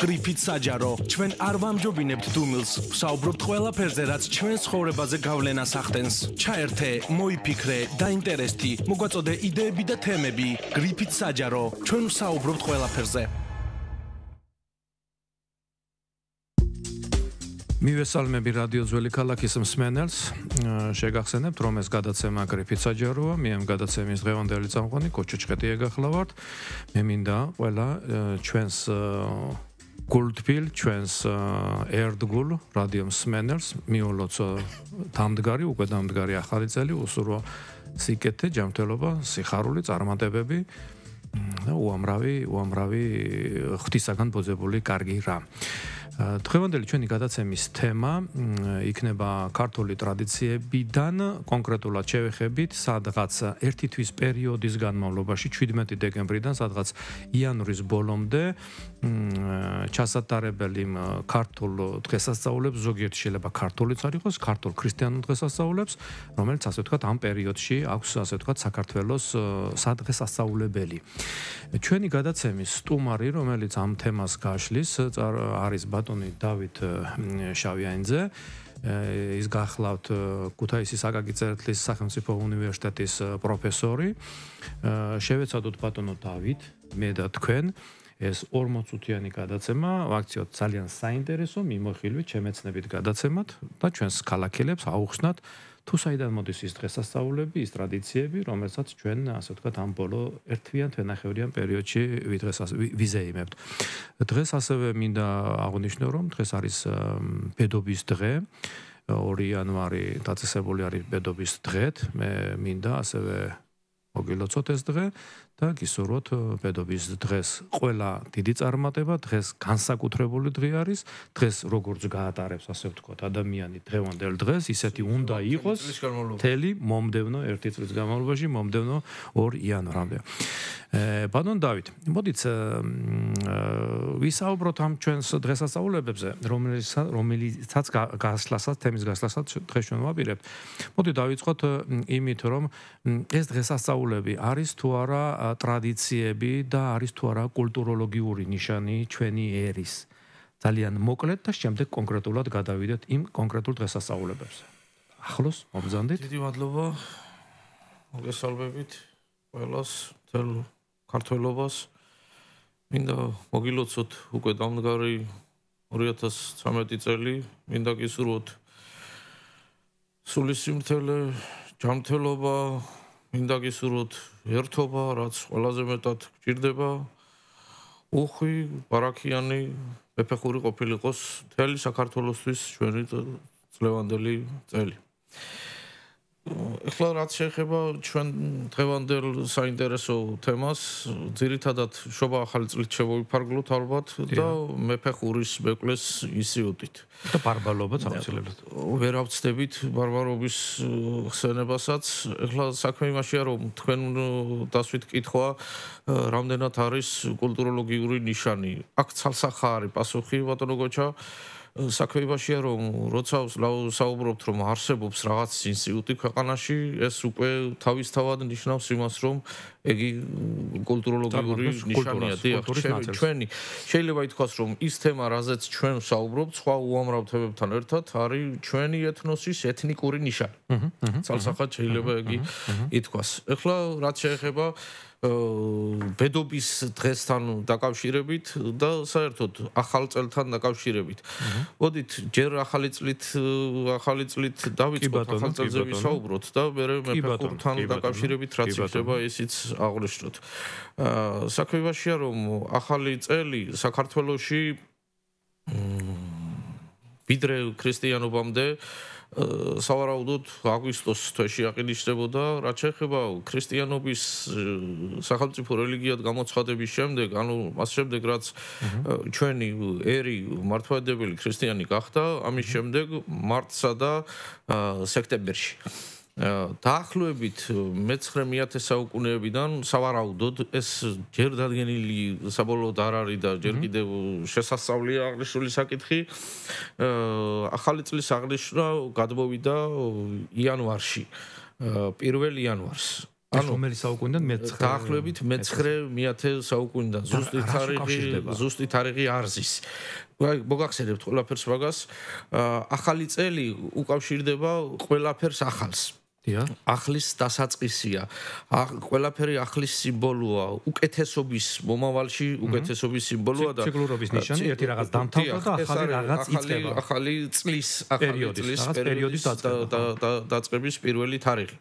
გრიფით საჯარო. ჩვენ არ ვამჯობინებთ დუმილს, ვსაუბრობთ ყველაფერზე, რაც ჩვენ ცხოვრებაზე გავლენას ახდენს. ჩაერთე, მოიფიქრე, დაინტერესდი, მოგვაწოდე იდეები და თემები. გრიფით საჯარო. ჩვენ ვსაუბრობთ ყველაფერზე. მივესალმები რადიო ძველი ქალაქის მსმენელს. შეგახსენებთ, რომ ეს გადაცემა გრიფით საჯაროა. მე ამ გადაცემის დღევანდელი წამყვანი კოჩო ჭყეტია გახლავართ. მე მინდა ყველა ჩვენს გულთბილ, ჩვენს ერდგულ რადიო მსმენელს მიულოც დამდგარი, უკვე დამდგარი ახალი წელი, უსურვო სიკეთე, ჯანმრთელობა, სიხარული, წარმატებები და უამრავი ღვთისაგან ბოძებული კარგი რამ. დღევანდელი ჩვენი გადაცემის თემა იქნება ქართული ტრადიციებიდან, კონკრეტულად შევეხებით სადღაც ერთი თვის პერიოდის განმავლობაში 17 დეკემბრიდან სადღაც იანვრის ბოლომდე ჩასატარებელი ქართულ დღესასწაულებს, ზოგიერთი შეიძლება ქართულიც არ იყოს, ქართულ ქრისტიანულ დღესასწაულებს, რომელიც ასე ვთქვათ ამ პერიოდში აქვს ასე ვთქვათ საქართველოს სადღესასწაულებელი. ჩვენი გადაცემის სტუმარი, რომელიც ამ თემას გაშლის, არის ბატონი დავით შავიანიძე. ის გახლავთ ქუთაისის აკაკი წერეთლის სახელმწიფო უნივერსიტეტის პროფესორი. შევეცადოთ ბატონო დავით, მე და თქვენ ეს 40-წუთიანი გადაცემა ვაქციოთ ძალიან საინტერესო, მიმოხილვით, შემეცნებით გადაცემად და ჩვენს ქალაქელებს აუხსნათ თუ საიდან მოდის ის დღესასწაულები, ის ტრადიციები, რომელსაც ჩვენ ასე ვთქვათ ამ ბოლო ერთვიან თვენახევრიან პერიოდში ვიზეიმებთ. დღეს ასევე მინდა აღვნიშნო, რომ დღეს არის ბედობის დღე. 2 იანვარი დაწესებული არის ბედობის დღეთ. მე მინდა ასევე მოგილოცოთ ეს დღე და გისურვოთ ბედობის დღეს ყველა დიდი წარმატება, დღეს განსაკუთრებული დღე არის, დღეს როგორც გაატარებს ასე ვთქვათ ადამიანი დღევანდელ დღეს, ისეთი უნდა იყოს მთელი მომდევნო 1 წლის განმავლობაში, მომდევნო 2 იანვრამდე. ბატონ დავით, მოდით ვისაუბროთ ამ ჩვენს დღესასწაულებებზე, რომელიცაც გასვლასაც, თემის გასვლასაც დღეს ჩვენ ვაპირებთ. მოდი დავიწყოთ იმით, რომ ეს დღესასწაულები არის თუ არა ტრადიციები და არის თუ არა კულტუროლოგიური ნიშანი ჩვენი ერის. ძალიან მოკლედ და შემდეგ კონკრეტულად გადავიდეთ იმ კონკრეტულ დღესასწაულებებზე. ახლოს მომბრძანდით. დიდი მადლობა. მოგესალმებით ყველას, მთელ ქართველობას. მინდა მოგილოცოთ უკვე დამდგარი 2013 წელი. მინდა გისურვოთ სულისიმრთელე, ჯანმრთელობა, მინდა გისურვოთ ერთობა, რაც ყველაზე მეტად გჭირდება. უხვი, ბარაქიანი, მეფეხური ყოფილიყოს მთელი საქართველოსთვის ჩვენი წლევანდელი წელი. ეხლა რაც შეეხება ჩვენ დღევანდელ საინტერესო თემას, ძირითადად შობა ახალი წლით შევიფარგლოთ ალბათ და მეფეხურის მეკლეს ინსტიტუტით. და ბარბარობაც აუცილებლად. ვერ ავწდებით ბარბარობის ხსენებასაც. ეხლა საქმე იმაშია, რომ თქვენ დასვით კითხვა, რამდენად არის კულტუროლოგიური ნიშანი. აქ ცალსახა არის პასუხი, ბატონო გოჩა. საქმე იმაშია, რომ როცა საუბრობთ, რომ არსებობს რაღაც ინსტიტუტი ქვეყანაში, ეს უკვე თავისთავად ნიშნავს იმას, რომ ეგი კულტუროლოგიური ნიშანია. ჩვენი შეიძლება ითქვას, რომ ის თემა, რაზეც ჩვენ ვსაუბრობთ, სხვა უამრავ თემებთან ერთად არის ჩვენი ეთნოსის ეთნიკური ნიშანი. ცალსახად შეიძლება ეგი ითქვას. ეხლა რაც შეეხება ბედობის დღესთან დაკავშირებით და საერთოდ ახალ წელთან დაკავშირებით. მოდით ჯერ ახალი წლით დავიწყოთ, ახალ წელზე ვისაუბროთ და მერე მეფეხურთან დაკავშირებით რაც იქნება ისიც აღვნიშნოთ. საქმე იმაშია, რომ ახალი წელი საქართველოში ვიდრე ქრისტიანობამდე სავარაუდოდ აგვისტოს თვეში აღინიშნებოდა, რაც შეეხება ქრისტიანობის სახელმწიფო რელიგიად გამოცხადების შემდეგ, ანუ მას შემდეგ, რაც ჩვენი ერი მართლმადიდებელი ქრისტიანი გახდა, ამის შემდეგ მარტსა და სექტემბერში. დაახლოებით მე-9 საუკუნეებიდან სავარაუდოდ ეს ჯერ დადგენილი საბოლოოდ არ არის და ჯერ კიდევ შესასწავლია აღნიშნული საკითხი. ახალი წლის აღნიშვნა გადმოვიდა იანვარში, 1 იანვარს. რომელი საუკუნიდან მე-9 დაახლოებით მე-9 საუკუნიდან ზუსტი თარიღი არ ზის. მოგახსენებთ ყველაფერს მაგას. ახალი წელი უკავშირდება ყველაფერს ახალს. ახლის დასაწყისია. ყველაფერი ახლის სიმბოლოა. უკეთესობის მომავალში უკეთესობის სიმბოლოა და ციკლურობის ნიშანი, ერთი რაღაც დამთავრდა და ახალი რაღაც იწყება. ახალი წლის პერიოდის დაწყების პირველი თარიღი.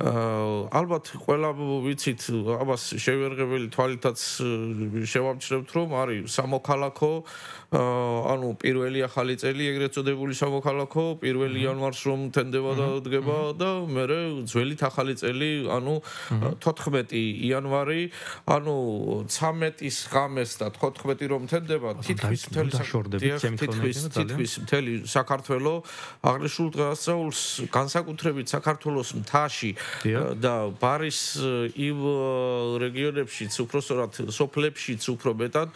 ალბათ ყველა ვიცით, ამას შევერღებელი თვალითაც შევამჩნევთ, რომ არის სამოქალაქო, ანუ პირველი ახალი წელი, ეგრეთ წოდებული სამოქალაქო, 1 იანვარს რომ თენდება და დგება და მერე ძველით ახალი წელი, ანუ 14 იანვარი, ანუ 13-ის ღამეს და 14 რომ თენდება, თითქმის მთელი საქართველო აღნიშნულ დღესასწაულს განსაკუთრებით საქართველოს მთაში და ბარის იმ რეგიონებშიც, უпроსტად სოფლებშიც უფრო მეტად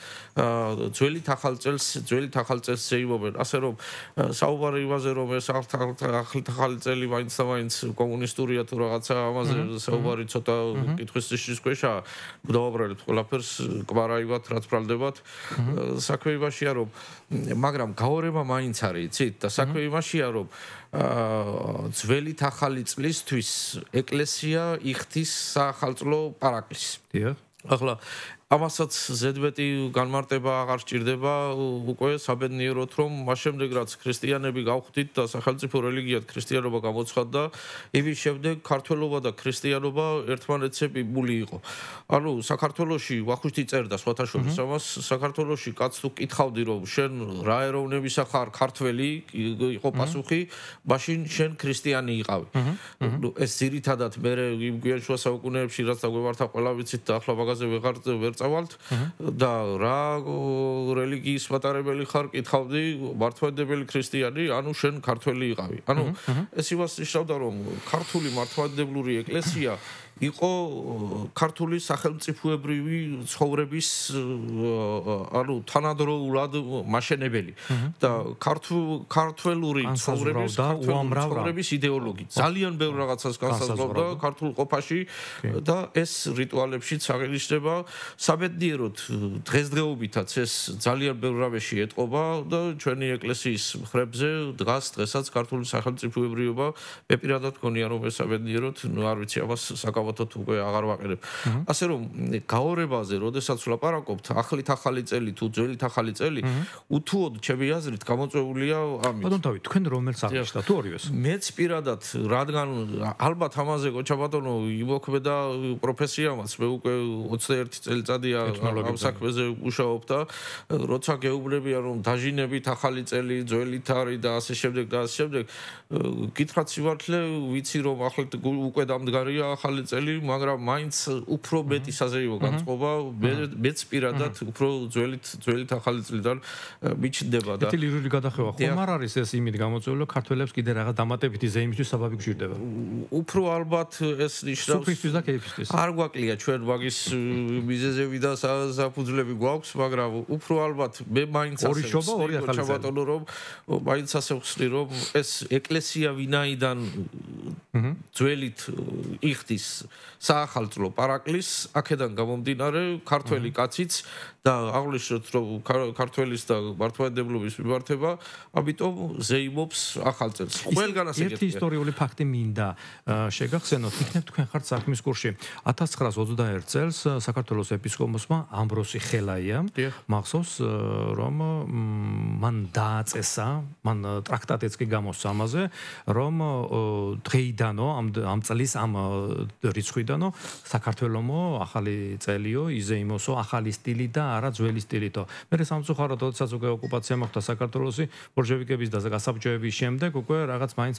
ძველით ახალ წელს შეიმობენ. ასე რომ საუბარი იმაზე, რომ ეს ახალი წელი მაინც და მაინც კომუნისტურია თუ რაღაცა, ამაზე საუბარი ცოტა კითხვის ნიშნის ქვეშაა. დავაბრალეთ ყველაფერს, კვარაივად, რაც ბრალდებათ. საქმე იმაშია, რომ მაგრამ გაორება მაინც არის, იცით, და საქმე იმაშია, რომ ძველით ახალი წლისთვის ეკლესია იხდის საახალწლო პარაკლისს. ახლა ამასაც ზედმეტი განმარტება აღარ სჭირდება, უკვე საბედნიეროდ, რომ მას შემდეგ რაც ქრისტიანები გავხდით და სახელმწიფო რელიგიად ქრისტიანობა გამოცხადდა, იმის შემდეგ ქართველობა და ქრისტიანობა ერთმანეთზე მიბული იყო. ანუ საქართველოში ვახუშტი წერდა სხვათა შორის ამას, საქართველოში კაც თუ კითხავდი, რომ შენ რა ეროვნებისა ხარ, ქართველი იყო პასუხი, მაშინ შენ ქრისტიანი იყავი. ეს ძირითადად მე იმ გვიან შუა საუკუნეებში რაც დაგვემართა ყველა ვიცით და ახლა მაგაზე ვეღარ წავალთ და რა რელიგიის მატარებელი ხარ, კითხავდი, მართლმადიდებელი ქრისტიანი, ანუ შენ ქართველი იყავი. ანუ ეს იმას ნიშნავდა, რომ ქართული მართლმადიდებლური ეკლესია იყო ქართული სახელმწიფოებრივი ცხოვრების ანუ თანადროულად მაშენებელი და ქართველური ცხოვრების იდეოლოგი ძალიან ბევრ რაღაცას განსაზღვრავდა ქართულ ყოფაში და ეს რიტუალებშიც აღინიშნება. საბედნიეროდ დღესდღეობითაც ეს ძალიან ბევრ რამეში ეტყობა და ჩვენი ეკლესიის მხრებზე დღესაც ქართული სახელმწიფოებრიობა მე პირადად მგონია, რომ ეს საბედნიეროდ არ ვიცი, ამას საკავათოდ უკვე აღარ ვაყენებ. ასე რომ გაორებაზე, როდესაც ვლაპარაკობთ, ახლით ახალი წელი თუ ძველით ახალი წელი, უთუოდ ჩემი აზრით გამოწვეულია ამით. ბატონ დავით, თქვენ რომელს აღნიშნავთ თუ ორივეს? მეც პირადად, რადგან ალბათ ამაზე კოჩა ბატონო იმოქმედა პროფესიამაც, მე უკვე 21 წელიწადია ამ საქმეზე მუშაობ და როცა გეუბნებიან, რომ დაჟინებით ახალი წელი, ძველით არის და ასე შემდეგ და ასე შემდეგ, გითხრათ სიმართლე, ვიცი რომ ახლა უკვე დამდგარია ახალი წელი, მაგრამ მაინც უფრო მეტი საზეიმო განწყობა მეც პირადად უფრო ძველით ახალი წლიდან მიჩნდება და ერთი ლირული გადახევა ხომ არ არის ეს იმით გამოწვეული, ქართველებს კიდე რაღაც დამატებითი ზეიმისთვის საბაბი გვჭირდება. უფრო ალბათ ეს ნიშნავს სუფისთვის და კეიფისთვის. არ გვაკლია ჩვენ მაგის მიზეზები და საფუძვლები გვაქვს, მაგრამ უფრო ალბათ მე მაინც ორი შობა, ორი ახალი წელი, რომ მაინც ასე ვხსნი, რომ ეს ეკლესია ვინაიდან ძველით იხდის საახალწლო პარაკლისს, აქედან გამომდინარე ქართველი კაციც და აღნიშნოთ, რომ ქართველის და მართლმადიდებლობის მიმართება, ამიტომ ზეიმობს ახალ წელს. ყველგანაც ერთი ისტორიული ფაქტი მინდა შეგახსენოთ, იქნებ თქვენ ხართ საქმის კურსში. 1921 წელს საქართველოს ეპისკოპოსმა ამბროსი ხელაია მახსოვს, რომ მან დააწესა, მან ტრაქტატიც კი გამოსცა ამაზე, რომ დღეიდანო ამ წლის ამ რიცხვიდანო საქართველოსო ახალი წელიო იზეიმოსო ახალი სტილი და არა ძველი სტილითო. მე სამწუხაროდ, როდესაც უკვე ოკუპაცია მოხდა საქართველოსი, ბოლშევიკების და გასაბჭოების შემდეგ უკვე რაღაც მაინც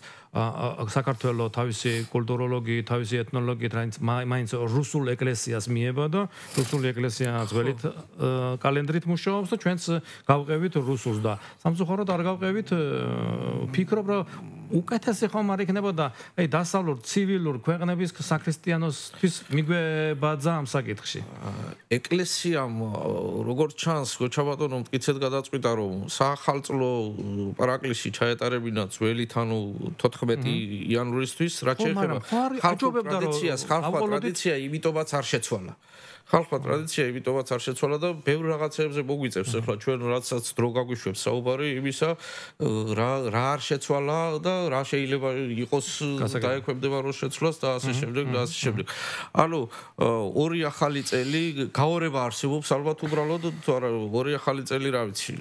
საქართველოს თავისი კულტუროლოგი, თავისი ეთნოლოგი მაინც რუსულ ეკლესიას მიება და რუსული ეკლესია ძველით კალენდრით მუშაობს და ჩვენც გავყევით რუსულს და სამწუხაროდ არ გავყევით, ფიქრობ, რომ უკეთესი ხომ არ იქნებოდა აი დასავლურ ცივილურ ქვეყნების საქრისტიანოსთვის მიგვებაძა ამ საკითხში. ეკლესიამ როგორც ჩანს გოჩაბატონო მტკიცედ გადაწყვიტა რომ საახალწლო პარაკლისი ჩაეტარებინა ძველით ანუ 14 იანვრისთვის რაც შეეხება ხალხურ ტრადიციას იმიტომაც არ შეცვალა. ხალხურ ტრადიცია იმიტომაც არ შეცვალა და ბევრ რაღაცებზე მოგვიწევს ახლა ჩვენ რაცაც დრო გაგვიშვებს საუბარი იმისა რა არ შეცვალა და რა შეიძლება იყოს დაექვემდებარო შეცვლას და ასე შემდეგ და ასე შემდეგ. ანუ ორი ახალი წელი გაორება არსებობს ალბათ უბრალოდ თუ არა ორი ახალი წელი რა ვიცი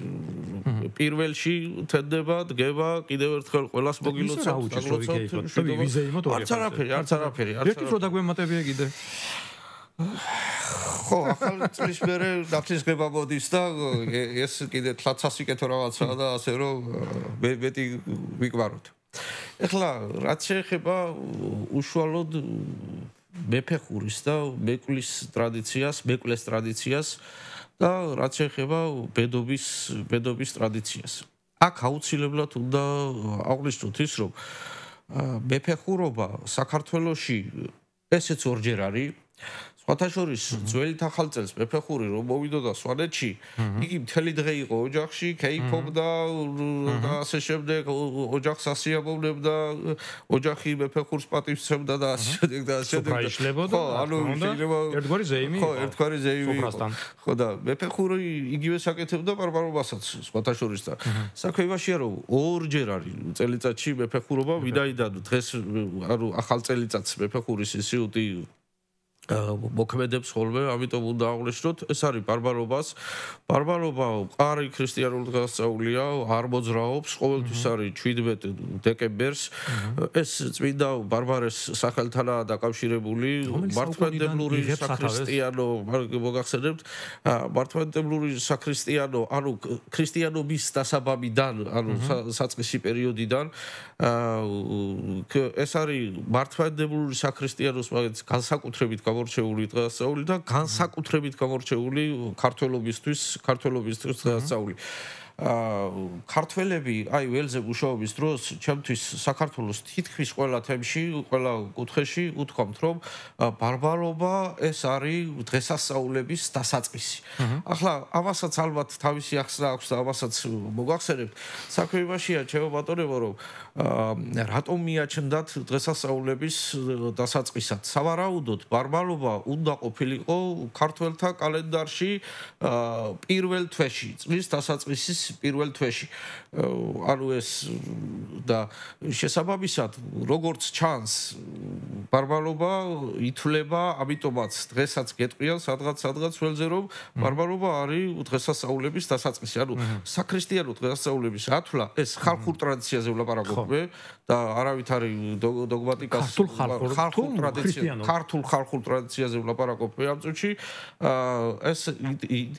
პირველში თენდება დგება კიდევ ერთხელ ყველას მოგილოცავთ არც არაფერი ერთი დრო დაგვემატებია კიდე ხო, ახალი წლის მერე დაფისგება მოდის და ეს კიდე თლაცასიკეთო რაღაცაა და ასე რომ მეტი ვიკვაროთ. ეხლა რაც შეეხება უშუალოდ მეფეხურის და მეკვლის ტრადიციას და რაც შეეხება ბედობის ტრადიციას. აქ აუცილებლად უნდა აღვნიშნოთ ის, რომ მეფეხურობა საქართველოში ესეც ორჯერ არის სხვათა შორის ძველი ახალწელს მეფეხური რომ მოვიდოდა სვანეთში იგი მთელი დღე იყო ოჯახში კეიფობდა და ასე შემდეგ ოჯახს ასიამოვნებდა ოჯახი მეფეხურს პატივცემდა და ასე შემდეგ და ასე შემდეგ ხო ანუ შეიძლება ერთგვარი ზეიმი ხო ერთგვარი ზეიმი ხო და მეფეხური იგივე საკეთებდა პარპარობასაც სხვათა შორის და საქმე იმაშია რომ ორჯერ არის წელიწადში მეფეხურობა ვინაიდან დღეს ანუ ახალ წელიწადს მეფეხურის ინსტიტუტი მოქმედებს ხოლმე, ამიტომ უნდა აღვნიშნოთ, ეს არის ბარბარობა მყარი ქრისტიანული დღესასწაულია, არ მოძრაობს, ყოველთვის არის 17 დეკემბერს. ეს წმინდა ბარბარეს სახელთანაა დაკავშირებული, მართლმადიდებლური საქრისტიანო, მოგახსენებთ, მართლმადიდებლური საქრისტიანო, ანუ ქრისტიანობის დასაბამიდან, ანუ საწყისი პერიოდიდან, ეს არის მართლმადიდებლური საქრისტიანოს მაგაც განსაკუთრებით გამორჩეული დღესასწაული და განსაკუთრებით გამორჩეული ქართველობისთვის დღესასწაული. ქართველები აი ველზე მუშაობის დროს ჩემთვის საქართველოს თითქმის ყველა თემში, ყველა კუთხეში უთქვამთ, რომ ბარბარობა ეს არის დღესასწაულების დასაწყისი. ახლა ამასაც ალბათ თავისი ახსნა აქვს და ამასაც მოგახსენებთ. საქმე იმაშია, ჩემო ბატონებო, რომ რატომ მიაჩნდათ დღესასწაულების დასაწყისად? სავარაუდოდ ბარბარობა უნდა ყოფილიყო ქართველთა კალენდარში პირველ თვეში, წლის დასაწყისის პირველ თვეში. ანუ ეს და შესაბამისად, როგორც ჩანს, ბარბარობა ითვლება, ამიტომაც დღესაც გეტყვიან სადღაც ველზე, რომ ბარბარობა არის დღესასწაულების დასაწყისი. ანუ საქრისტიანო დღესასწაულების ათვლა ეს ხალხურ ტრადიციაზე ვლაპარაკობ და არავით არის დოგმატიკას ქართულ ხალხურ ტრადიციაზე ვლაპარაკობ ამ წუთში. ეს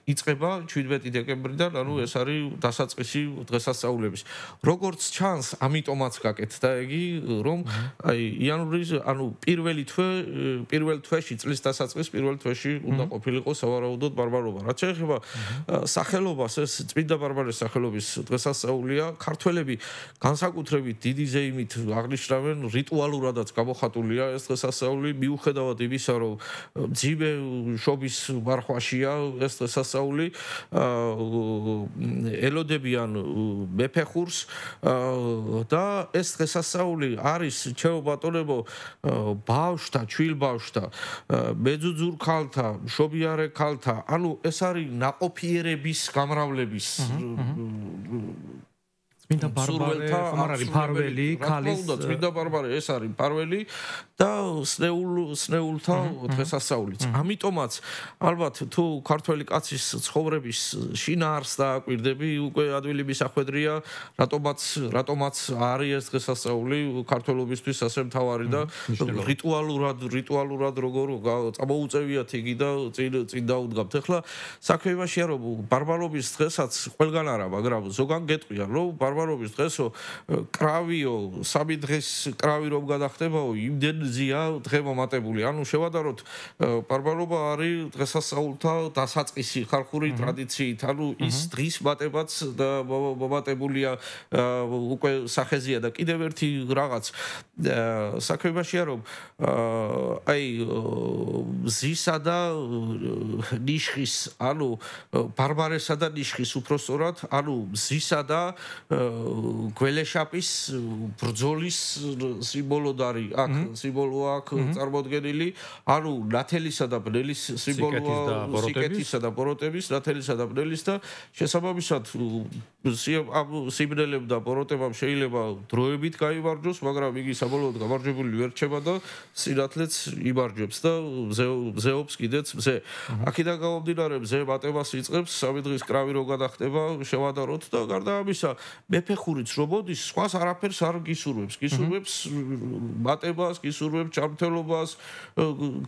იწყება 17 დეკემბრიდან, ანუ ეს არის დასაწყისი დღესასწაულების. როგორც ჩანს, ამიტომაც გაკეთდა იგი, რომ აი იანვრის, ანუ პირველ თვეში წლის დასაწყის პირველ თვეში უნდა ყოფილიყო სავარაუდოდ ბარბარობა. რაც შეეხება სახელობას, ეს წმინდა ბარბარეს სახელობის დღესასწაულია. ქართველები განსაკუთრებით დიდი ზეიმით აღნიშნავენ, რიტუალურადაც გამოხატულია ეს დღესასწაული, მიუხედავად იმისა, რომ ძიმე შობის მარხვაშია ეს დღესასწაული. ელოდებიან მეფეხურს და ეს დღესასწაული არის ჩემო ბატონებო ბავშვთა, ჩვილბავშვთა, მეძუძურ ქალთა, მშობიარე ქალთა, ანუ ეს არის ნაყოფიერების გამრავლების წმინდა ბარბარე არის ფარველი, ქალის წმინდა ბარბარე ეს არის ფარველი და სნეულთა დღესასწაულიც. ამიტომაც ალბათ თუ ქართველი კაცის ცხოვრების შინაარსს დააკვირდები, უკვე ადვილი მისახვედრია, რატომაც არის ეს დღესასწაული ქართველობისთვის ასე მთავარი და რიტუალურად როგორ წამოუწევიათ იგი და წინ დაუდგამთ. ახლა საქმე იმაშია, რომ ბარბარობის დღესაც ყველგან არა, მაგრამ ზოგან გეტყვიან, რომ ბარბარობის დღესო კრავიო სამი დღეს კრავი რომ გადახდებაო იმდენზეა დღემომატებული ანუ შევადაროთ ბარბარობა არის დღესასწაულთა დასაწყისი ხალხური ტრადიციით ანუ ის დღის მატებაც მომატებულია უკვე სახეზია და კიდევ ერთი რაღაც საქმეებია რომ აი მზისა და ნიშხის ანუ ბარბარესა და ნიშხის უпростоრად ანუ მზისა და გველეშაპის ბრძოლის სიმბოლოდ არის აქ სიმბოლოა აქ წარმოდგენილი ანუ ნათელისა და ბნელის სიმბოლოა სიკეთისა და ბოროტების ნათელისა და ბნელის და შესაბამისად სიმბნელემ და ბოროტებამ შეიძლება დროებით გაიმარჯვოს მაგრამ იგი საბოლოოდ გამარჯვებული ვერ რჩება და სინათლეც იმარჯვებს და მზეობს კიდეც მზე აქედან გამომდინარე მზე მატებას იწყებს სამი დღის კრავი რო გადახდება შევადაროთ და გარდა ამისა მეფეხურიც რო მოდის სხვას არაფერს არ გისურვებს მატებას გისურვებს ჩამთელობას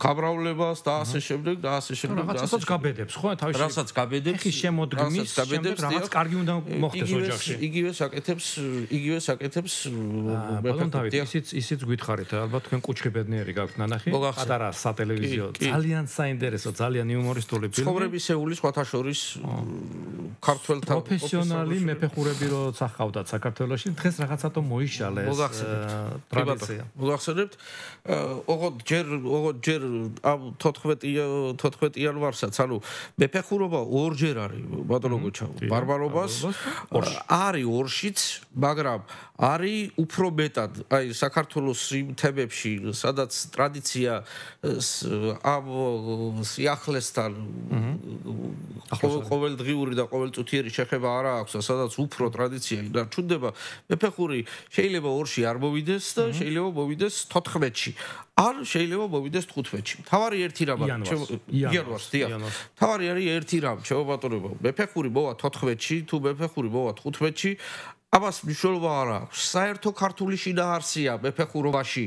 გამრავლებას და ასე შემდეგ და ასე შემდეგ რაღაცაც გაბედებს ხო თავის რასაც გაბედებს ხის შემოდგმის შემდეგ რაღაც კარგი უნდა მოხდეს ოჯახში იგივე საკეთებს ისიც გითხარით ალბათ თქვენ კუჩხი ბედნიერი გაქვთ ნანახი პატარა სატელევიზიო ძალიან საინტერესო ძალიან იუმორისტული ფილმი ცხოვრებისეული სხვათა შორის ქართველთა პროფესიონალი მეფეხურები როცა ხავდათ საქართველოში დღეს რაღაცათო მოიშალეს ტრადიცია მოგახსენებთ ოღონდ ჯერ ამ 14 იანვარსაც ანუ მეფეხურობა ორჯერ არის ბატონო გოჩა ბარბარობას არის ორშიც მაგრამ არის უფრო მეტად აი საქართველოს იმ თემებში სადაც ტრადიცია ამ სიახლესთან ყოველდღიური და ყოველწუთიერი შეხება არა აქვს და სადაც უფრო ტრადიცია ინარჩუნდება მეფეხური შეიძლება ორში არ მოვიდეს და შეიძლება მოვიდეს 14-ში არ შეიძლება მოვიდეს 15-ში თავარი ერთი რამ იანვარს თავარი არის ერთი რამ შეუბატონებო მეფეხური მოვა 14-ში თუ მეფეხური მოვა 15-ში ამას მნიშვნელობა არ აქვს საერთო ქართული შინაარსია მეფეხურობაში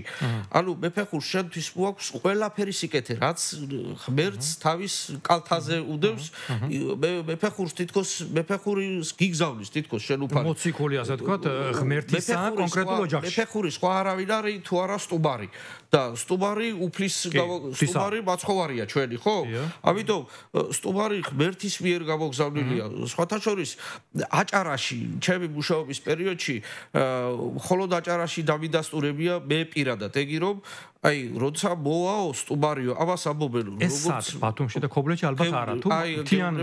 ანუ მეფეხურს შენთვის მოაქვს ყველაფერი სიკეთე რაც ღმერთს თავის კალთაზე უდევს მეფეხურს თითქოს მეფეხურის გიგზავნის თითქოს შენ უფალი მოციქული ასე ვთქვათ ღმერთისა კონკრეტულ ოჯახში მეფეხური სხვა არავინ არის თუ არა სტუბარი და სტუბარი უფლის სტუბარი მაცხოვარია ჩვენი ხო ამიტომ სტუბარი ღმერთის მიერ გამოგზავნილია სხვათა შორის აჭარაში ჩემი მუშაობის პერიოდში მხოლოდ აჭარაში დამიდასტურებია მე პირადად ეგი რომ აი როცა მოვაო სტუბარიო ამას ამბობენ როგორც ბათუმში და ქობლეთში ალბათ არა თუ თიან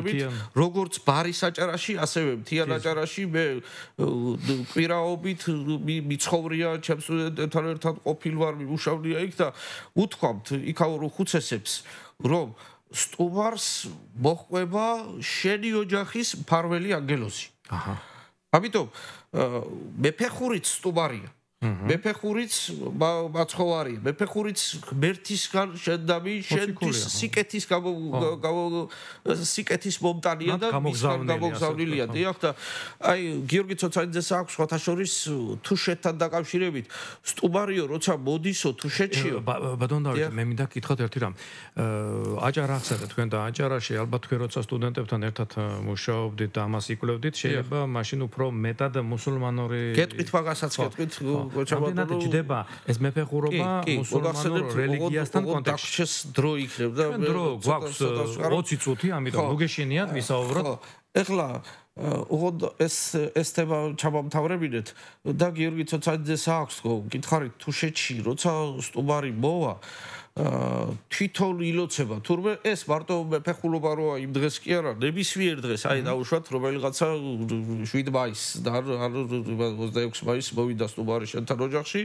როგორც ბარის აჭარაში ასევე თიან აჭარაში მე კვირაობით მიცხოვრია ჩემს სტუდენტებთან ერთად ყოფილ ვარ მიმუშავნია იქ და უთქვამთ იქაურ ხუცესებს რომ სტუბარს მოჰყვება შენი ოჯახის მფარველი ანგელოზი აჰა ამიტომ მეფეხურიც სტუბარია მეფეხურიც მაცხოვარია მეფეხურიც ღმერთისგან შენდამი შენთვის სიკეთის სიკეთის მომტანია და მისგან გამოგზავნილია დიახ და აი გიორგი ცოცაიძეს აქვს სხვათა შორის თუშეთთან დაკავშირებით სტუბარიო როცა მოდისო თუშეთშიო ბატონ დავით მე მინდა გითხრათ ერთი რამ აჭარა ახსენეთ თქვენ და აჭარაში ალბათ თქვენ როცა სტუდენტებთან ერთად მუშაობდით და ამას იკვლევდით შეიძლება მაშინ უფრო მეტად მუსულმანური გეტყვით მაგასაც გეტყვით გოჩაბატონო ჯდება ეს მეფეხურობა მუსულმანურ რელიგიასთან კონტექსტში დრო იქნებდა დრო გვაქვს 20 წუთი ამიტომ მოგეშინიათ ვისაუბროთ ეხლა უღოდ ეს თემა ჩამომთავრებინეთ და გიორგი ცოცაძეს აქვს გითხარით თუშეთში როცა სტუბარი მოვა თვითონ ილოცება თურმე ეს მარტო მეფეხურობა როა იმ დღეს კი არა ნებისმიერ დღეს აი დაუშვათ რომელიღაცა 7 მაისს და 26 მაისს მოვიდა სტუბარი შენთან ოჯახში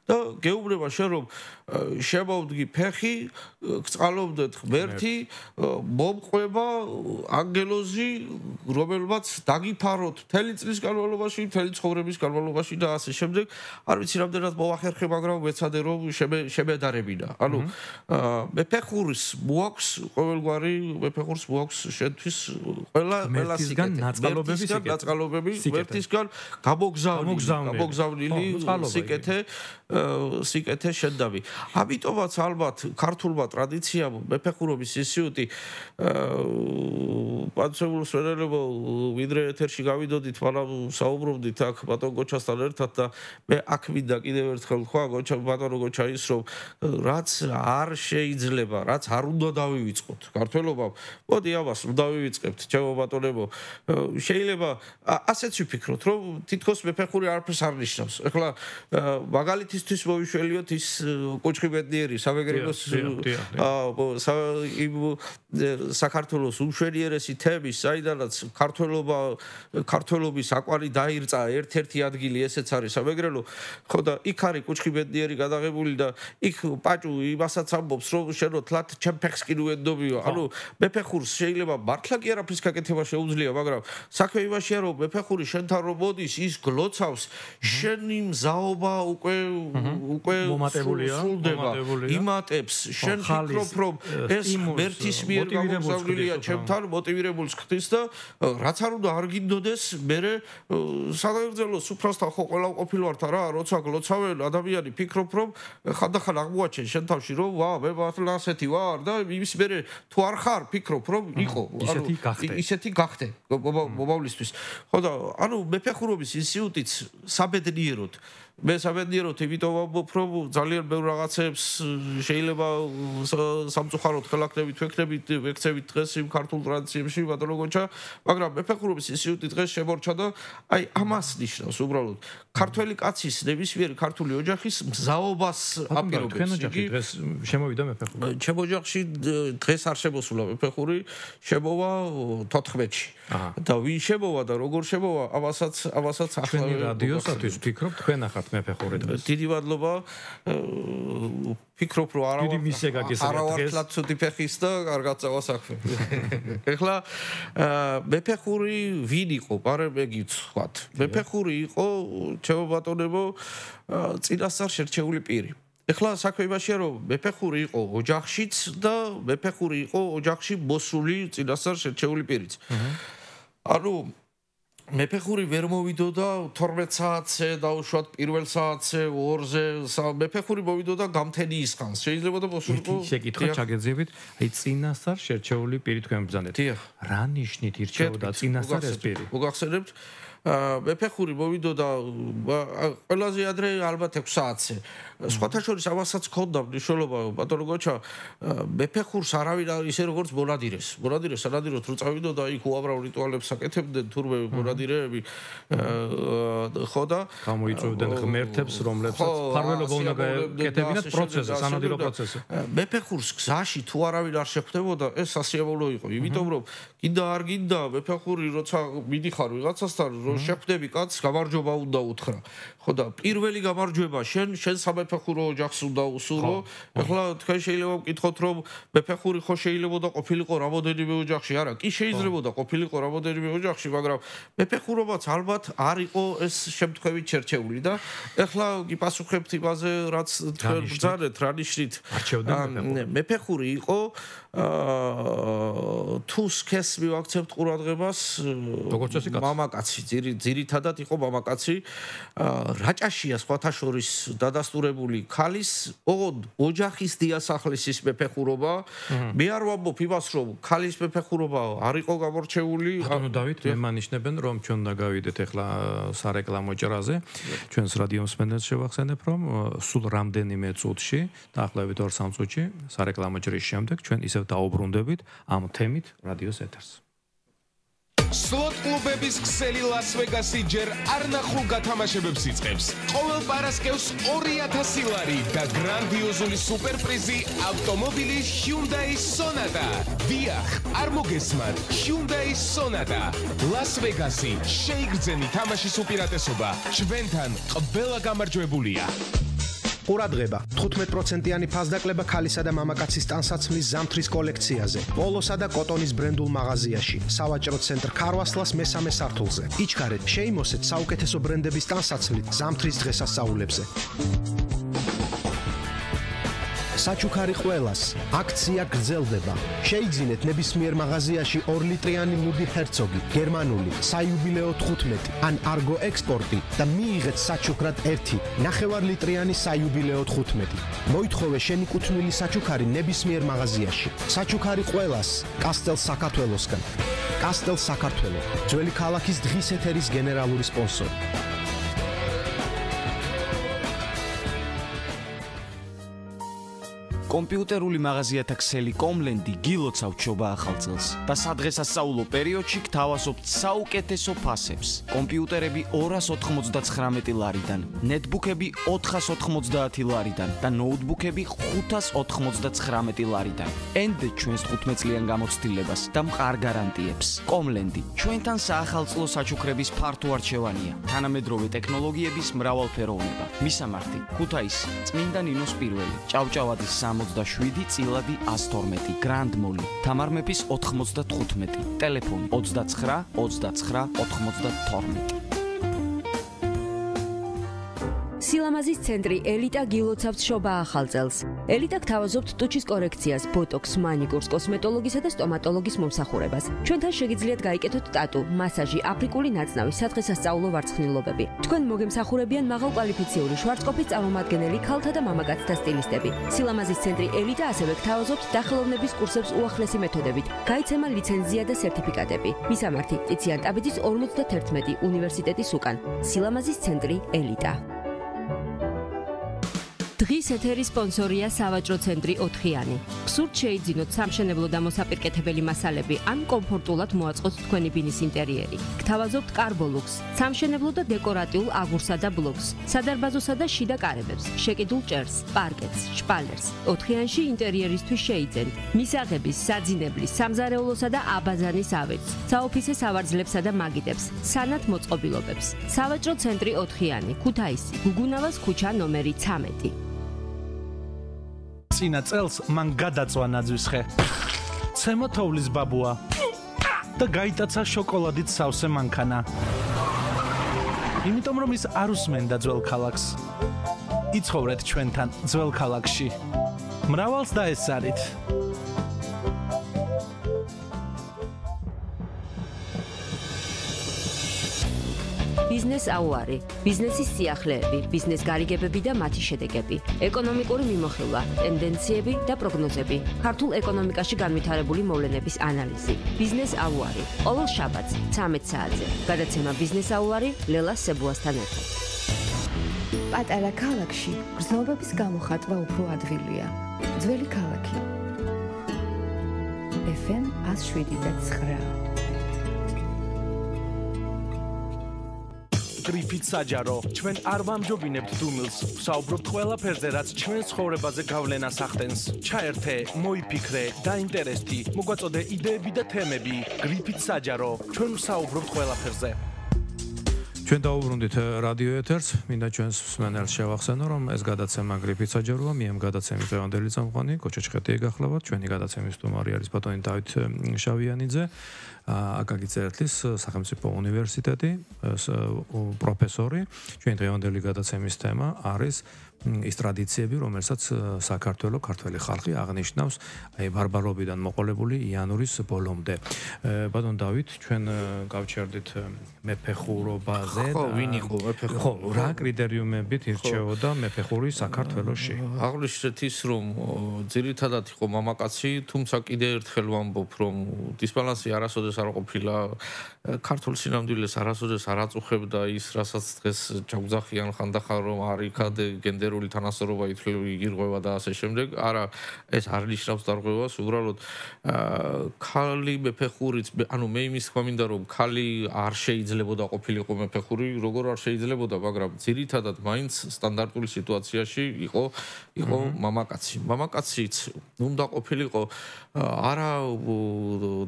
და გეუბნება შენ რომ შემოვდგი ფეხი გწყალობდეთ ღმერთი მომყვება ანგელოზი რომელმაც დაგიფაროთ მთელი წლის განმავლობაში მთელი ცხოვრების განმავლობაში და ასე შემდეგ არ ვიცი რამდენად მოახერხე მაგრამ ვეცადე რომ შემედარებინა ანუ მეფეხურის მოაქვს ყოველგვარი მეფეხურს მოაქვს შენთვის ყველა ნაწყალობები ვერთისგან გამოგზავნილი სიკეთე შედავი. ამიტომაც ალბათ ქართულმა ტრადიციამ მეფეხურობის ინსტიტუტი პანცეულ სვერელებო ვიდრე ეთერში გავიდოდით, მაგრამ საუბრობდით აქ ბატონ გოჩასთან ერთად და მე აქ მინდა კიდევ ერთხელ თქვა ბატონო გოჩა ის რომ რაც არ შეიძლება, რაც არ უნდა დავივიწყოთ ქართველობამ, მოდი ამას დავივიწყებთ, ჩემო ბატონებო. შეიძლება ასეც ვიფიქროთ, რომ თითქოს მეფეხური არაფერს არ ნიშნავს. ეხლა მაგალითისთვის მოვიშველიოთ ის კუჩხი ბედნიერი სამეგრელოს საქართველოს უმშვენიერესი თემის, საიდანაც ქართველობის აკვარი დაირწა ერთ-ერთი ადგილი ესეც არის სამეგრელო. ხო და იქ არის კუჩხი ბედნიერი გადაღებული და იქ პაჭუ იმასაც ამბობს, რომ შენო თლათ ჩემ ფეხს კი ნუენდობიო. ანუ მეფეხურს შეიძლება მართლა კი არაფრის გაკეთება შეუძლია, მაგრამ საქმე იმაშია, რომ მეფეხური შენთან რომ მოდის, ის გლოცავს, შენი მზაობა უკვე სრულდება, იმატებს, შენ ფიქრობ, რომ ეს ერთის მიერ გამოგზავნილია ჩემთან, მოტივირებულს ხდის და რაც არ უნდა არ გინდოდეს, მე სადაგრძელო სუფრასთან ხო ყველა ყოფილვართ რა, როცა გლოცავენ ადამიანი ფიქრობ, რომ ხანდახან აღმოაჩენ შენ თავში, რომ ვა, მე მართლა ასეთი ვარ და იმის მერე თუ არ ხარ, ფიქრობ, რომ იყო, ისეთი გახდე მომავლისთვის. ხო და ანუ მეფეხურობის ინსტიტუტიც საბედნიეროდ მე საბედნიეროდ იმიტომ ვამბობ, რომ ძალიან ბევრ რაღაცებს შეიძლება სამწუხაროდ ხელახდებით ვექცევით დღეს იმ ქართულ ტრადიციებში ბატონო გოჩა, მაგრამ მეფეხურობის ინსტიტუტი დღეს შემორჩა და აი ამას ნიშნავს უბრალოდ ქართველი კაცის ნებისმიერი ქართული ოჯახის მზაობას აპირობებს. იგი დღეს შემოვიდა მეფეხური. ჩემ ოჯახში დღეს არ შემოსულა მეფეხური, შემოვა 14-ში. და ვინ შემოვა და როგორ შემოვა, ამასაც ახლა რადიოსათვის ვფიქრობ, თქვენ ახართ მეფეხური დღეს. დიდი მადლობა. ფიქრობ, რომ არავარ ცუდი ფეხის და კარგად წავა საქმე. ეხლა მეფეხური ვინ იყო? პარემ გიცხვათ. მეფეხური იყო, ჩემო ბატონებო, წინასწარ შერჩეული პირი. ეხლა საქმე იმაშია, რომ მეფეხური იყო ოჯახშიც და მეფეხური იყო ოჯახში მოსული წინასწარ შერჩეული პირიც. ანუ მეფეხური ვერ მოვიდოდა 12 საათზე, დაუშვათ პირველ საათზე, 2-ზე, მეფეხური მოვიდოდა გამთენის ხანს. შეიძლება და მოსულიყო. შეკითხვა ჩაგეძიებით, აი წინასწარ შერჩეული პირი თქვენ ბრძანეთ. რა ნიშნით ირჩეოდა წინასწარ ეს პირი? მოგახსენებთ? მეფეხური მოვიდოდა ყველაზე ადრე ალბათ 6 საათზე. სხვათა შორის ამასაც ჰქონდა მნიშვნელობა, ბატონო გოჩა, მეფეხურს არავინ ისე როგორც მონადირეს სანადიროდ რო წავიდოდა, იქ უამრავ რიტუალებს აკეთებდნენ თურმე მონადირეები. ხო და გამოიწვევდნენ ღმერთებს, რომლებსაც ფარველობა უნდა გაეკეთებინათ პროცესზე, სანადირო პროცესზე. მეფეხურს გზაში თუ არავინ არ შეხვდებოდა, ეს სასიამოვნო იყო, იმიტომ რომ კიდე არ გინდა მეფეხური როცა მიდიხარ ვიღაცასთან, რომ შეხვდები კაცს, გამარჯობა უნდა უთხრა. ხო და პირველი გამარჯვება შენ სამეფეხურო ოჯახს უნდა უსურო. ეხლა თქვენ შეიძლება ვკითხოთ, რომ მეფეხური ხო შეიძლება და ყოფილიყო რამოდენიმე ოჯახში, არა, კი შეიძლებოდა ყოფილიყო რამოდენიმე ოჯახში, მაგრამ მეფეხურობაც ალბათ არ იყო ეს შემთხვევით შერჩეული და ეხლა გიპასუხებთ იმაზე, რაც თქვენ ბრძანეთ, რა ნიშნით მეფეხური იყო თუ სქეს მივაქცევთ ყურადღებას, მამაკაცი, ძირითადად იყო მამაკაცი, რაჭაშია სხვათა შორის დადასტურებული ქალის ოჯახის დიასახლისის მეფეხურობა. მე არ ვამბობ იმას, რომ ქალის მეფეხურობა არ იყო გამორჩეული. ანუ დავით, მე მანიშნებენ, რომ ჩვენ უნდა გავიდეთ ახლა სარეკლამო ჭრაზე. ჩვენს რადიო მსმენელს შევახსენებ, რომ სულ რამდენიმე წუთში, დაახლოებით 2-3 წუთში სარეკლამო ჭრის შემდეგ ჩვენ ისევ დაუბრუნდებით ამ თემით რადიოს ეთერს. სლოტ კლუბების ქსელი ლას-ვეგასი ჯერ არ ნახულ გათამაშებებს იწყებს. ყოველ პარასკევს 2000 ლარი და გრანდიოზული სუპერპრიზი ავტომობილი Hyundai Sonata. დიახ, არ მოგესმართ, Hyundai Sonata. ლას-ვეგასი, შეიგრძენი თამაშის უპირატესობა. ჩვენთან ყველა გამარჯვებულია. ყურადღება 15%-იანი ფასდაკლება ქალისა და მამაკაცის ტანსაცმლის ზამთრის კოლექციაზე. პოლოსა და კოტონის ბრენდულ მაღაზიაში, სავაჭრო ცენტრ ქარვასლას მესამე სართულზე. იჩქარეთ, შეიმოსეთ საუკეთესო ბრენდების ტანსაცმლით ზამთრის დღესასწაულებზე. საჩუქარი ყველას აქცია გრძელდება. შეიძინეთ ნებისმიერ მაღაზიაში 2 ლიტრიანი მუდი ჰერცოგი, გერმანული, საიუბილეო 15 ან არგო ექსპორტი და მიიღეთ საჩუქრად 1 ნახევარ ლიტრიანი საიუბილეო 15. მოითხოვე შენი კუთვნილი საჩუქარი ნებისმიერ მაღაზიაში. საჩუქარი ყველას კასტელ საქართველოსგან. კასტელ საქართველო, ძველი ქალაქის დღის ეთერის გენერალური სპონსორი. კომპიუტერული მაღაზიათა ქსელი კომლენდი გილოცავთ შობა ახალ წელს და სადღესასწაულო პერიოდში გთავაზობთ საუკეთესო ფასებს. კომპიუტერები 299 ლარიდან, ნეტბუქები 490 ლარიდან და ნოუთბუქები 599 ლარიდან. ენდე ჩვენს 15 წლიან გამოცდილებას და მყარ გარანტიებს. კომლენდი ჩვენთან საახალწლო საჩუქრების ფართო არჩევანია, თანამედროვე ტექნოლოგიების მრავალფეროვნება. მისამართი: ქუთაისი, წმინდა ნინოს პირველი, ჭავჭავაძის 67, წილადი 112, გრანდ მოლი, თამარ მეფის 95, ტელეფონი 29 29 92. სილამაზის ცენტრი ელიტა გილოცავთ შობა ახალ წელს. ელიტა გთავაზობთ ტუჩის კორექციას, ბოტოქს, მანიკურს, კოსმეტოლოგისა და სტომატოლოგის მომსახურებას. ჩვენთან შეგიძლიათ გაიკეთოთ ტატუ, მასაჟი, აფრიკული ნაწნავი, სადღესასწაულო ვარცხნილობები. თქვენ მოგემსახურებიან მაღალკვალიფიციური შვარცკოპის წარმომადგენელი ქალთა და მამაკაცთა სტილისტები. სილამაზის ცენტრი ელიტა ასევე გთავაზობთ დახელოვნების კურსებს უახლესი მეთოდებით. გაიცემა ლიცენზია და სერტიფიკატები. მისამართი: ტიციან ტაბიძის 51 უნივერსიტეტის უკან. სილამაზის ცენტრი ელიტა. დღის ეთერის სპონსორია სავაჭრო ცენტრი 4-იანი. გსურთ შეიძინოთ სამშენებლო და მოსაპირკეთებელი მასალები ან კომფორტულად მოაწყოთ თქვენი ბინის ინტერიერი. გთავაზობთ კარბოლუქს, სამშენებლო და დეკორატიულ აგურსა და ბლოკს, სადარბაზოსა და შიდა კარებებს, შეკიდულ ჭერს, პარკეტს, შპალერს. 4-იანში ინტერიერისთვის შეიძენთ მისაღების, საძინებლის, სამზარეულოსა და აბაზანის ავეჯს, საოფისე სავარძლებსა და მაგიდებს, სანათ მოწყობილობებს. სავაჭრო ცენტრი 4-იანი, ქუთაისი, გუგუნავას ქუჩა ნომერი 13. წინა წელს მან გადაწვა ნაძვისხე. ცემო თოვლის ბაბუა და გაიტაცა შოკოლადით სავსე მანქანა. იმიტომ რომ ის არ უსმენდა ძველ ქალაქს. იცხოვრეთ ჩვენთან ძველ ქალაქში. მრავალს დაესწარით. ბიზნეს აუარი, ბიზნესის სიახლეები, ბიზნეს გარიგებები და მათი შედეგები, ეკონომიკური მიმოხილვა, ტენდენციები და პროგნოზები, ქართულ ეკონომიკაში განვითარებული მოვლენების ანალიზი. ბიზნეს აუარი, ყოველ შაბათს 13 საათზე. გადაცემა ბიზნეს აუარი ლელა სებუასთან ერთად. პატარა ქალაქში გრძნობების გამოხატვა უფრო ადვილია. ძველი ქალაქი. FM 107.9. გრიფით საჯარო, ჩვენ არ ვამჯობინებთ დუმილს, ვსაუბრობთ ყველაფერზე, რაც ჩვენ ცხოვრებაზე გავლენას ახდენს. ჩაერთე, მოიფიქრე, დაინტერესდი, მოგვაწოდე იდეები და თემები. გრიფით საჯარო, ჩვენ ვსაუბრობთ ყველაფერზე. ჩვენ დაუბრუნდით რადიო ეთერს, მინდა ჩვენს მსმენელს შევახსენო, რომ ეს გადაცემა გრიფით საჯაროა, მე ამ გადაცემის დღევანდელი წამყვანი კოჩა ჩხეტი ეგახლავათ, ჩვენი გადაცემის სტუმარი არის ბატონი დავით შავიანიძე, აკაკი წერეთლის სახელმწიფო უნივერსიტეტი პროფესორი. ჩვენი დღევანდელი გადაცემის თემა არის ის ტრადიციები, რომელსაც საქართველოს ქართველი ხალხი აღნიშნავს აი ბარბარობიდან მოყოლებული იანვრის ბოლომდე. ბატონ დავით, ჩვენ გავჩერდით მეფეხურობაზე და ვინ იყო მეფეხური? ხო, რა კრიტერიუმებით ირჩეოდა მეფეხური საქართველოში? აღნიშნეთ ის, რომ ძირითადად იყო მამაკაცი, თუმცა კიდე ერთხელ ვამბობ, რომ დისბალანსი არასოდეს არ ყოფილა, ქართულ სინამდვილეს არასოდეს არ აწუხებდა ის, რასაც დღეს ჯაგუძახიან ხანდახან, რომ არ იქად გენდერული თანასწორობა ირღვევა და ასე შემდეგ. არა, ეს არ ნიშნავს დარღვევას, უბრალოდ ქალი მეფეხურიც, ანუ მე იმის თქვა მინდა, რომ ქალი არ შეიძლებოდა ყოფილიყო მეფეხური, როგორ არ შეიძლებოდა, მაგრამ ძირითადად მაინც სტანდარტული სიტუაციაში იყო მამაკაცი. მამაკაციც უნდა ყოფილიყო არა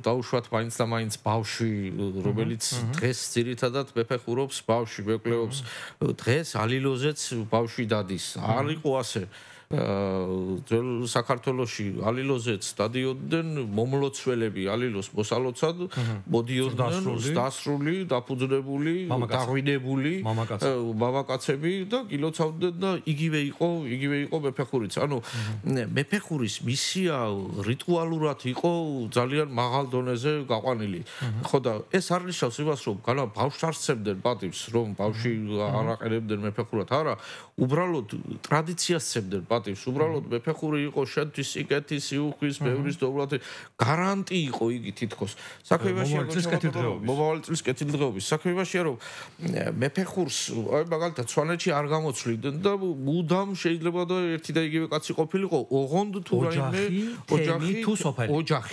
დაუშვათ მაინც და მაინც ბავშვი, რომელიც დღეს ძირითადად მეფეხურობს, ბავშვი მეკლეობს, დღეს ალილოზეც ბავშვი დადის. არ იყო ასე. ძველ საქართველოში ალილოზეც დადიოდნენ მომლოცველები ალილოს მოსალოცად მოდიოდნენ დასრული, დაფუძნებული, დაღვინებული მამაკაცები და გილოცავდნენ და იგივე იყო მეფეხურიც. ანუ მეფეხურის მისია რიტუალურად იყო ძალიან მაღალ დონეზე გაყვანილი. ხო და ეს არ ნიშნავს იმას, რომ განა ბავშვს არ სცემდნენ პატივს, რომ ბავშვი არ აყენებდნენ მეფეხურად, არა, უბრალოდ ტრადიციას სცემდნენ პატივს, უბრალოდ მეფეხური იყო შენთვის სიკეთის, სიუხვის, ბევრის დოვლათი გარანტი იყო იგი თითქოს. საქმე იმაშია, რომ მომავალი წლის კეთილდღეობის. საქმე იმაშია, რომ მეფეხურს აი მაგალითად სვანეთში არ გამოცვლიდნენ და მუდამ შეიძლება და ერთი და იგივე კაცი ყოფილიყო, ოღონდ თუ რაიმე ოჯახი თუ სოფელი. ოჯახი.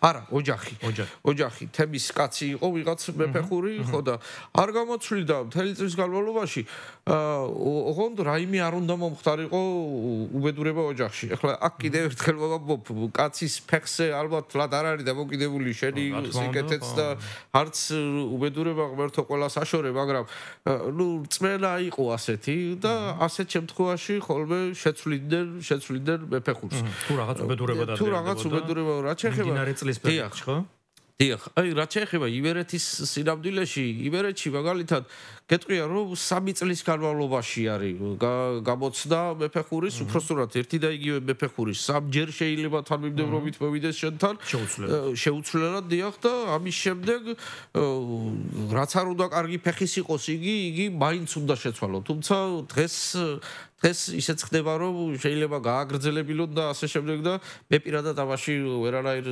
არა, ოჯახი. თემის კაცი იყო ვიღაც მეფეხური, ხო და არ გამოცვლიდა მთელი წლის განმავლობაში. ოღონდ რაიმე არ უნდა მომხდარიყო უბედურება ოჯახში. ეხლა აქ კიდევ ერთხელ მოგაბობ, კაცის ფეხზე ალბათ ლად არ არის დამოკიდებული შენი სიკეთეც და არც უბედურება ღმერთო ყველას აშორე, მაგრამ ნუ წმენა იყო ასეთი და ასეთ შემთხვევაში ხოლმე შეცვლიდნენ მეფეხურს. თუ რაღაც უბედურება და თუ რაღაც უბედურება რა შეეხება დინარე წლის პერიოდში, ხო? დიახ, აი რა შეეხება ივერეთის სინამდვილეში, ივერეთში მაგალითად გეტყვია რომ 3 წლის განმავლობაში არის გამოცდა მეფეხურის, უпроსტურად ერთი და იგივე მეფეხურის სამჯერ შეიძლება თანმიმდევრობით მოვიდეს შენთან. შეუცვლელად დიახ და ამის შემდეგ რაც არ უნდა კარგი ფეხის იყოს იგი მაინც უნდა შეცვალო. თუმცა დღეს ისეც ხდება რომ შეიძლება გააგრძელებილონ და ასე შემდეგ და მე პირადად ამაში ვერანაირ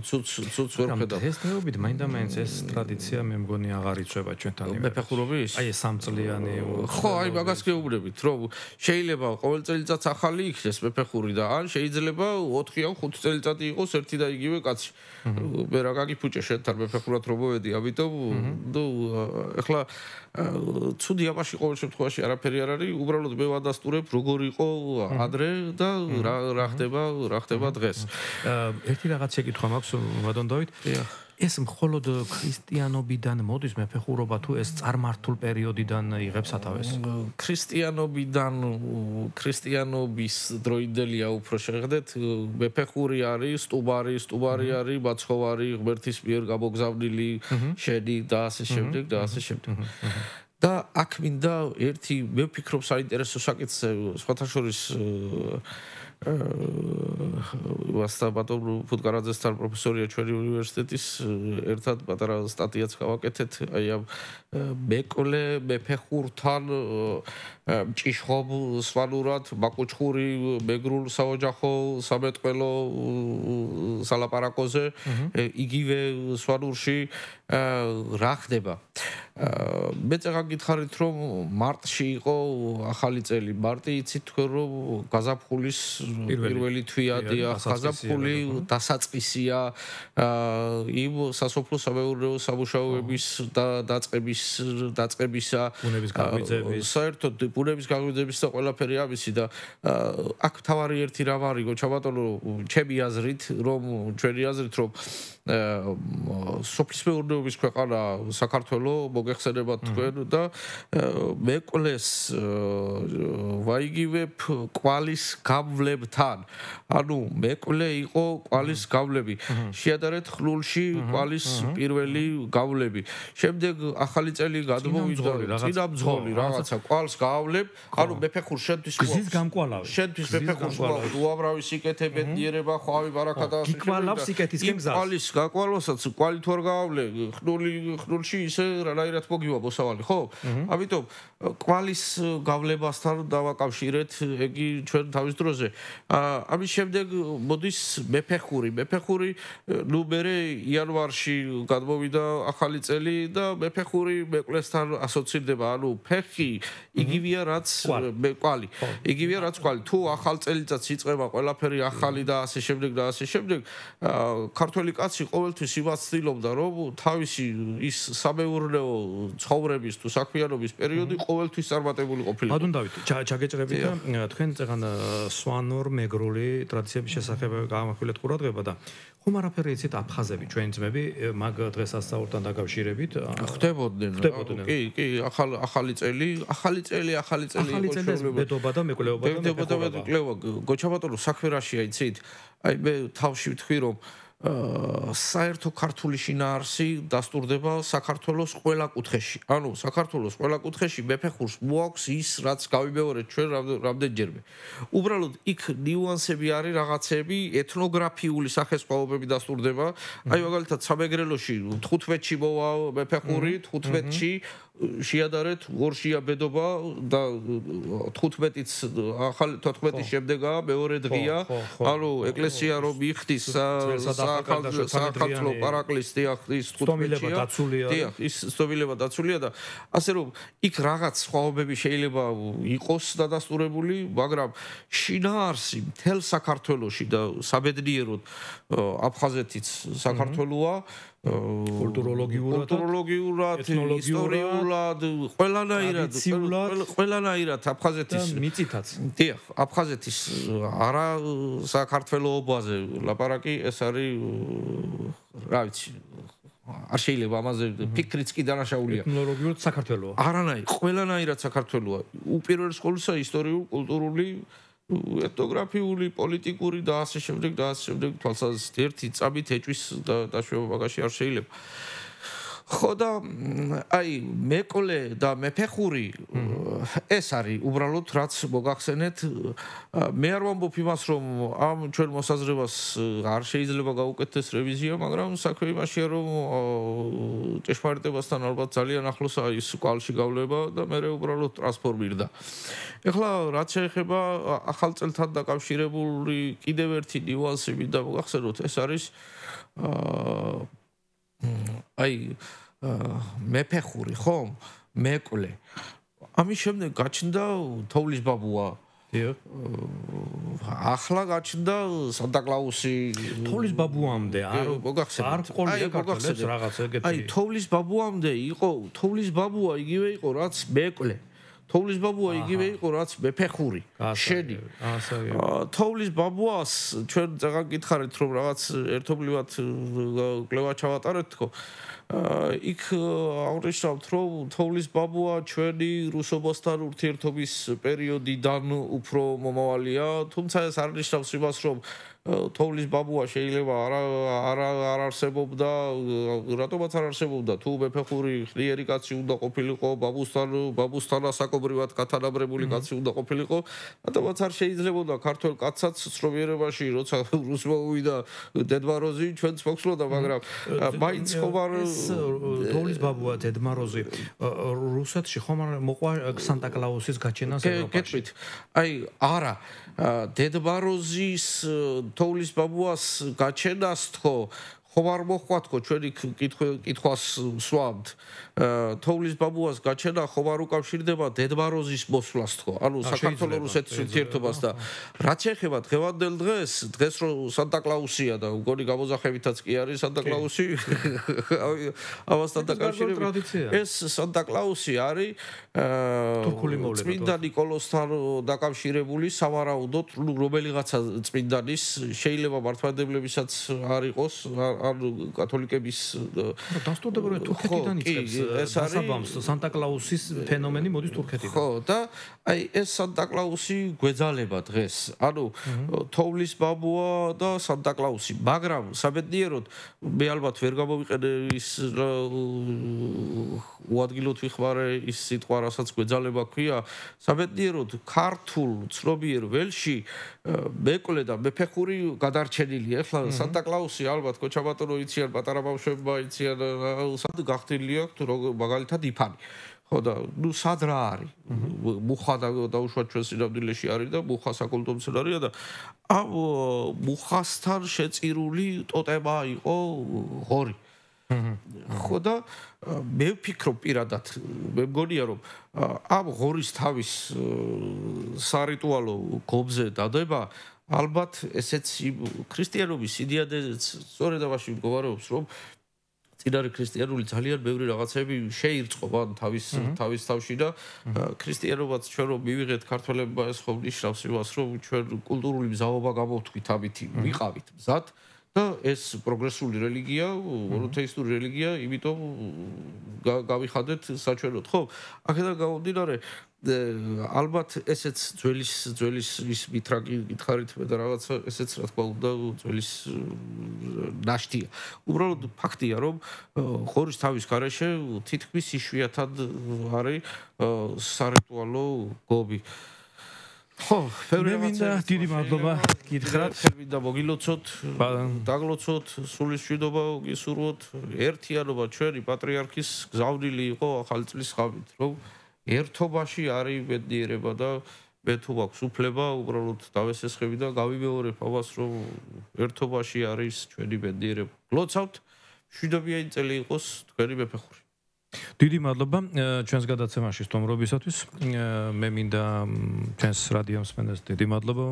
ცუც ვერ ვხედავ. ეს დღეობით მაინდა-მაინც ეს ტრადიცია მე მგონი აღარ იცვება ჩვენთან. მეფეხურობის? აი ეს 3 წლიანი. ხო, აი მაგას გეუბნებით, რომ შეიძლება ყოველ წელიწადს ახალი იქნეს მეფეხური და ან შეიძლება 4 ან 5 წელიწადი იყოს ერთი და იგივე კაცი. მე რა გაგიფუჭე შენთან მეფეხურად რომ მოვედი, ამიტომ ნუ ეხლა ცუდი ამაში ყოველ შემთხვევაში არაფერი არ არის, უბრალოდ მე ვადასტურებ როგორ იყო ადრე და რა ხდება დღეს. ერთი რაღაც შეკითხვა მაქვს ვადონ დავით. ეს მხოლოდ ქრისტიანობიდან მოდის მეფეხურობა თუ ეს წარმართულ პერიოდიდან იღებს სათავეს? ქრისტიანობის დროინდელია უფრო შეღდეთ, მეფეხური არის, სტუბარი არის, მაცხოვარი, ღმერთის მიერ გამოგზავნილი შენი და ასე შემდეგ და ასე შემდეგ. და აქ მინდა ერთი მე ვფიქრობ საინტერესო საკითხზე სხვათა შორის ვასტაბატო ფუტკარაძესთან პროფესორია ჩვენი უნივერსიტეტის ერთად პატარა სტატიაც გავაკეთეთ აი ამ მეკვლე მეფეხურთან ჭიშხობ სვანურად მაკუჩხური მეგრულ საოჯახო სამეთყველო სალაპარაკოზე იგივე სვანურში რა ხდება მე წეგაგითხარით რომ მარტში იყო ახალი წელი მარტი იცით თქვენ რომ გაზაფხულის პირველი თვიადია გაზაფხული დასაწყისია იმ სასოფლო სამეურნეო სამუშაოების დაწყებისა ბუნების გაღვიძების საერთოდ ბუნების გაღვიძების და ყველაფერი ამისი და აქ თავარი ერთი რამ არის გოჩაბატონო ჩემი აზრით რომ ჩვენი აზრით რომ სოფლის მეურნეობის ქვეყანა საქართველოს მოგეხსენებათ თქვენ და მეკვლეს ვაიგივებ კვალის გამვლებთან ანუ მეკვლე იყო კვალის გამვლები შეადარეთ ხლულში კვალის პირველი გამვლები შემდეგ ახალი წელი გადმოვიდა წინამძღოლი რაღაცა კვალს გავლებ ანუ მეფეხურ შენთვის გზის გამკვალავი შენთვის მეფეხურს უამრავი სიკეთე ბედნიერება ხვავი ბარაკა და გიკვალავს სიკეთისკენ გზას გაყვალოსაც კვალი თუ არ გავავლე ხნულში ისე რანაირად მოგივა მოსავალი ხო ამიტომ კვალის გავლებასთან დავაკავშირეთ ეგი ჩვენ თავის დროზე ამის შემდეგ მოდის მეფეხური ნუ მერე იანვარში გადმოვიდა ახალი წელი და მეფეხური მეკლესთან ასოცირდება ანუ ფეხი იგივეა რაც კვალი იგივეა რაც კვალი თუ ახალ წელიწადს იწყება ყველაფერი ახალი და ასე შემდეგ ქართველი კაცი ყოველთვის იმას ცდილობდა, რომ თავისი ის სამეურნეო ცხოვრების თუ საქმიანობის პერიოდი ყოველთვის წარმატებული ყოფილიყო. ბატონ დავით, ჩაგეჭრებით და თქვენ წეგან სვანურ მეგრული ტრადიციების შესახებ გამახვილეთ ყურადღება და ხომ არაფერი იცით აფხაზები ჩვენი ძმები მაგ დღესასწაულთან დაკავშირებით ხდებოდნენ. კი, ახალი წელი ბედობა და მეკვლეობა და მეკვლეობა. გოჩა ბატონო, საქმე რაშია იცით? აი მე თავში ვთქვი რომ საერთო ქართული შინაარსი დასტურდება საქართველოს ყველა კუთხეში. ანუ საქართველოს ყველა კუთხეში მეფეხურს მოაქვს ის, რაც გავიმეორეთ ჩვენ რამდენჯერმე. უბრალოდ იქ ნიუანსები არის, რაღაცები, ეთნოგრაფიული სახესხვაობები დასტურდება. აი მაგალითად სამეგრელოში 15-ში მოვა მეფეხური, 15-ში შეადარეთ ორშია ბედობა და 15-იც ახალი 14-ის შემდეგაა მეორე დღეა. ანუ ეკლესია რომ იხდის საქართველოს პარაკლისს ის 15-ია. ის სტომილება დაცულია და ასე რომ იქ რაღაც სხვაობები შეიძლება იყოს დადასტურებული, მაგრამ შინაარსი მთელ საქართველოში და საბედნიეროდ აფხაზეთიც საქართველოა კულტუროლოგიურად, ისტორიულად, ყველანაირად აფხაზეთის მიწითაც. დიახ, აფხაზეთის არა საქართველოობაზე ლაპარაკი, ეს არის რა ვიცი, არ შეიძლება ამაზე ფიქრიც კი დანაშაულია. ეთნოლოგიურად საქართველოა. არანაირ, ყველანაირად საქართველოა. უპირველეს ყოვლისა ისტორიული, კულტურული ეთნოგრაფიული, პოლიტიკური და ასე შემდეგ თვალსაზრისით ერთი წამით ეჭვის დაშვება მაგაში არ შეიძლება. ხო და აი მეკვლე და მეფეხური ეს არის უბრალოდ რაც მოგახსენეთ. მე არ ვამბობ იმას რომ ამ ჩვენ მოსაზრებას არ შეიძლება გაუკეთდეს რევიზია, მაგრამ საქმე იმაშია რომ ჭეშმარიტებასთან ალბათ ძალიან ახლოსაა ის კვალში გავლება და მე უბრალოდ ტრანსფორმირდა. ეხლა რაც შეეხება ახალ წელთან დაკავშირებული კიდევ ერთი ნიუანსი მინდა მოგახსენოთ, ეს არის აი მეფეხური ხომ მეკვლე ამის შემდეგ გაჩნდა თოვლის ბაბუა ახლა გაჩნდა სანტა-კლაუსი თოვლის ბაბუამდე არ ყოლია ქართულებს რაღაც ეგეთი აი თოვლის ბაბუამდე იყო თოვლის ბაბუა იგივე იყო რაც მეკლე თოვლის ბაბუა იგივე იყო რაც მეფეხური შენი თოვლის ბაბუას ჩვენ წეგან გითხარით რომ რაღაც ერთობლივად კვლევა ჩავატარეთ თქო იქ აღნიშნავთ რომ თოვლის ბაბუა ჩვენი რუსობასთან ურთიერთობის პერიოდიდან უფრო მომავალია თუმცა ეს არ ნიშნავს იმას რომ თოვლის ბაბუა შეიძლება არ არსებობდა რატომაც არ არსებობდა თუ მეფეხური ხლიერი კაცი უნდა ყოფილიყო ბაბუსთან ასაკობრივად გათანაბრებული კაცი უნდა ყოფილიყო რატომაც არ შეიძლებოდა ქართველ კაცსაც ცნობიერებაში როცა რუსმა უვიდა დედმაროზი ჩვენც მოხსნოდა მაგრამ მაინც ხომ არ თოვლის ბაბუა დედმაროზი რუსეთში ხომ არ მოყვა სანტა-კლაუსის გაჩენას ევროპაში აი არა დედმაროზის თოვლის ბაბუას გაჩენას თქო ხომ არ მოხვა თქო ჩვენი კითხვას სვამთ თოვლის ბაბუას გაჩენა ხომ არ უკავშირდება დედმაროზის მოსვლას თქო ანუ საქართველოს რუსეთის ურთიერთობას და რაც შეეხება დღევანდელ დღეს რო სანტა-კლაუსია და უგონი გამოძახებითაც კი არის სანტა-კლაუსი ამასთან დაკავშირებით ეს სანტა-კლაუსი არის თურქული მოვლენა წმინდა ნიკოლოსთან დაკავშირებული სავარაუდოდ რომელიღაცა წმინდანის შეიძლება მართლმადიდებლებისაც არ იყოს ან კათოლიკების დასტურდება რომ თურქეთიდან იწყებს ეს არის სანტა-კლაუსის ფენომენი მოდის თურქეთიდან. ხო და აი ეს სანტა-კლაუსი გვეძალება დღეს. ანუ თოვლის ბაბუა და სანტა-კლაუსი, მაგრამ საბედნიეროდ მე ალბათ ვერ გამოვიყენე ის უადგილოდ ვიხმარე ის სიტყვა, რასაც გვეძალება ქვია. საბედნიეროდ ქართულ ცნობიერ ველში მეკლე და მეფეხური გადარჩენილია. ეხლა სანტა-კლაუსი ალბათ კოჩაბატონო იციან, პატარა ბავშვებმა იციან, სად გახდილი აქვს მაგალითად იფანი. ხო და ნუ სად რა არის? მუხა დაუშვათ ჩვენ სინამდვილეში არის და მუხა საკულტო მცენარეა და ამ მუხასთან შეწირული ტოტემა იყო ღორი. ხო და მე ვფიქრობ პირადად მე მგონია რომ ამ ღორის თავის სარიტუალო გობზე დადება ალბათ ესეც ქრისტიანობის იდეადეც სწორედ ამაში მდგომარეობს, რომ წინარე ქრისტიანული ძალიან ბევრი რაღაცები შეირწყო ან თავის თავში და ქრისტიანობაც ჩვენ რომ მივიღეთ ქართველებმა ეს ხომ ნიშნავს იმას, რომ ჩვენ კულტურული მზაობა გამოვთქვით ამით, ვიყავით მზად და ეს პროგრესული რელიგია, მონოთეისტური რელიგია, იმიტომ გავიხადეთ საჩვენოდ, ხო? აქედან გამომდინარე ალბათ ესეც ძველის ის მიტრაკი გითხარით მე და რაღაცა ესეც რა თქმა უნდა ძველის ნაშთია. უბრალოდ ფაქტია რომ ხორის თავის გარეშე თითქმის იშვიათად არის სარიტუალო გობი. ხო, მე მინდა დიდი მადლობა გითხრათ. მინდა მოგილოცოთ, დაგლოცოთ, სულის მშვიდობა გისურვოთ, ერთიანობა ჩვენი პატრიარქის გზავნილი იყო ახალი წლის ღამით, რომ ერთობაში არის ბედნიერება და მე თუ მაქვს უფლება უბრალოდ დავესესხები და გავიმეორებ ამას, რომ ერთობაში არის ჩვენი ბედნიერება. გლოცავთ, მშვიდობიანი წელი იყოს თქვენი მეფეხური. დიდი მადლობა ჩვენს გადაცემაში სტუმრობისათვის. მე მინდა ჩვენს რადიო მსმენელს დიდი მადლობა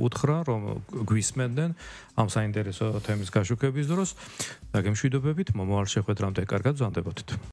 უთხრა, რომ გვისმენდნენ ამ საინტერესო თემის გაშუქების დროს და გემშვიდობებით მომავალ შეხვედრამდე კარგად ვზანდებოდეთ.